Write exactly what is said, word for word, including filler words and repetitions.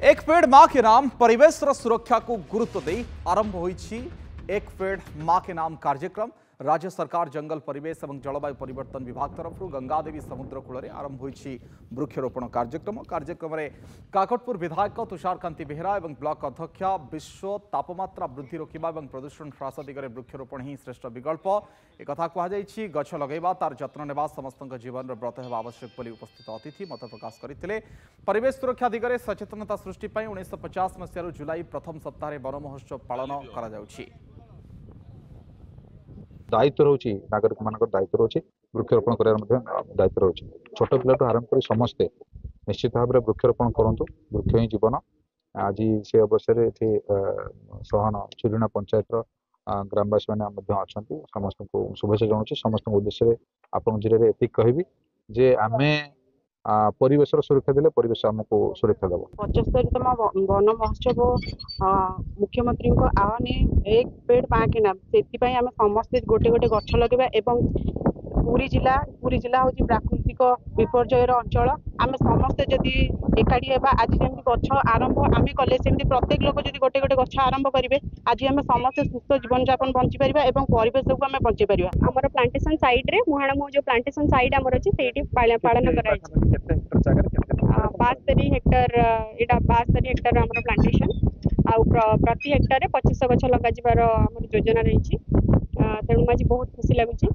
एक पेड़ मां के नाम ପରିବେଶର ସୁରକ୍ଷାକୁ ଗୁରୁତ୍ୱ ଦେଇ ଆରମ୍ଭ ହୋଇଛି एक पेड़ मां के नाम କାର୍ଯ୍ୟକ୍ରମ। ରାଜ୍ୟ ସରକାର ଜଙ୍ଗଲ, ପରିବେଶ ଏବଂ ଜଳବାୟୁ ପରିବର୍ତ୍ତନ ବିଭାଗ ତରଫରୁ ଗଙ୍ଗାଦେବୀ ସମୁଦ୍ର କୂଳରେ ଆରମ୍ଭ ହୋଇଛି ବୃକ୍ଷରୋପଣ କାର୍ଯ୍ୟକ୍ରମ। କାର୍ଯ୍ୟକ୍ରମରେ କାକଟପୁର ବିଧାୟକ ତୁଷାରକାନ୍ତି ବେହେରା ଏବଂ ବ୍ଲକ ଅଧ୍ୟକ୍ଷା ବିଶ୍ୱ ତାପମାତ୍ରା ବୃଦ୍ଧି ରୋକିବା ଏବଂ ପ୍ରଦୂଷଣ ହ୍ରାସ ଦିଗରେ ବୃକ୍ଷରୋପଣ ହିଁ ଶ୍ରେଷ୍ଠ ବିକଳ୍ପ ଏକଥା କୁହାଯାଇଛି। ଗଛ ଲଗାଇବା, ତାର ଯତ୍ନ ନେବା ସମସ୍ତଙ୍କ ଜୀବନର ବ୍ରତ ହେବା ଆବଶ୍ୟକ ବୋଲି ଉପସ୍ଥିତ ଅତିଥି ମତ ପ୍ରକାଶ କରିଥିଲେ। ପରିବେଶ ସୁରକ୍ଷା ଦିଗରେ ସଚେତନତା ସୃଷ୍ଟି ପାଇଁ ଉଣେଇଶହ ପଚାଶ ମସିହାରୁ ଜୁଲାଇ ପ୍ରଥମ ସପ୍ତାହରେ ବନ ମହୋତ୍ସବ ପାଳନ କରାଯାଉଛି। ଦାୟିତ୍ୱ ରହୁଛି, ନାଗରିକ ମାନଙ୍କର ଦାୟିତ୍ୱ ରହୁଛି, ବୃକ୍ଷରୋପଣ କରିବାର ମଧ୍ୟ ଦାୟିତ୍ୱ ରହୁଛି। ଛୋଟ ପିଲାଠୁ ଆରମ୍ଭ କରି ସମସ୍ତେ ନିଶ୍ଚିତ ଭାବରେ ବୃକ୍ଷରୋପଣ କରନ୍ତୁ। ବୃକ୍ଷ ହିଁ ଜୀବନ। ଆଜି ସେ ଅବସରରେ ଏଠି ସହନ ଚିରୁଣା ପଞ୍ଚାୟତର ଗ୍ରାମବାସୀ ମାନେ ମଧ୍ୟ ଅଛନ୍ତି। ସମସ୍ତଙ୍କୁ ଶୁଭେଚ୍ଛା ଜଣାଉଛି। ସମସ୍ତଙ୍କ ଉଦ୍ଦେଶ୍ୟରେ ଆପଣଙ୍କ ଜରିଆରେ ଏତିକି କହିବି ଯେ ଆମେ ପରିବେଶର ସୁରକ୍ଷା ଦେଲେ ପରିବେଶ ଆମକୁ ସୁରକ୍ଷା ଦେବ। ପଚସ୍ତରୀତମ ବନ ମହୋତ୍ସବ, ମୁଖ୍ୟମନ୍ତ୍ରୀଙ୍କ ଆହ୍ୱାନ एक पेड़ मां के नाम, ସେଥିପାଇଁ ଆମେ ସମସ୍ତେ ଗୋଟେ ଗୋଟେ ଗଛ ଲଗେଇବା ଏବଂ ପୁରୀ ଜିଲ୍ଲା ପୁରୀ ଜିଲ୍ଲା ହେଉଛି ପ୍ରାକୃତିକ ବିପର୍ଯ୍ୟୟର ଅଞ୍ଚଳ। ଆମେ ସମସ୍ତେ ଯଦି ଏକାଠି ହେବା, ଆଜି ଯେମିତି ଗଛ ଆରମ୍ଭ ଆମେ କଲେ, ସେମିତି ପ୍ରତ୍ୟେକ ଲୋକ ଯଦି ଗୋଟେ ଗୋଟେ ଗଛ ଆରମ୍ଭ କରିବେ, ଆଜି ଆମେ ସମସ୍ତେ ସୁସ୍ଥ ଜୀବନଯାପନ ବଞ୍ଚିପାରିବା ଏବଂ ପରିବେଶକୁ ଆମେ ବଞ୍ଚେଇ ପାରିବା। ଆମର ପ୍ଲାଣ୍ଟେସନ ସାଇଡରେ, ମୁହାଣ ମୁହଁ ଯୋଉ ପ୍ଲାଣ୍ଟେସନ ସାଇଡ୍ ଆମର ଅଛି, ସେଇଠି ପାଳନ କରାଯାଇଛି। ବାସ୍ତରୀ ହେକ୍ଟର, ଏଇଟା ବାସ୍ତରୀ ହେକ୍ଟର ଆମର ପ୍ଲାଣ୍ଟେସନ ଆଉ ପ୍ରତି ହେକ୍ଟରରେ ପଚିଶଶହ ଗଛ ଲଗାଯିବାର ଆମର ଯୋଜନା ରହିଛି। ତେଣୁ ଆଜି ବହୁତ ଖୁସି ଲାଗୁଛି।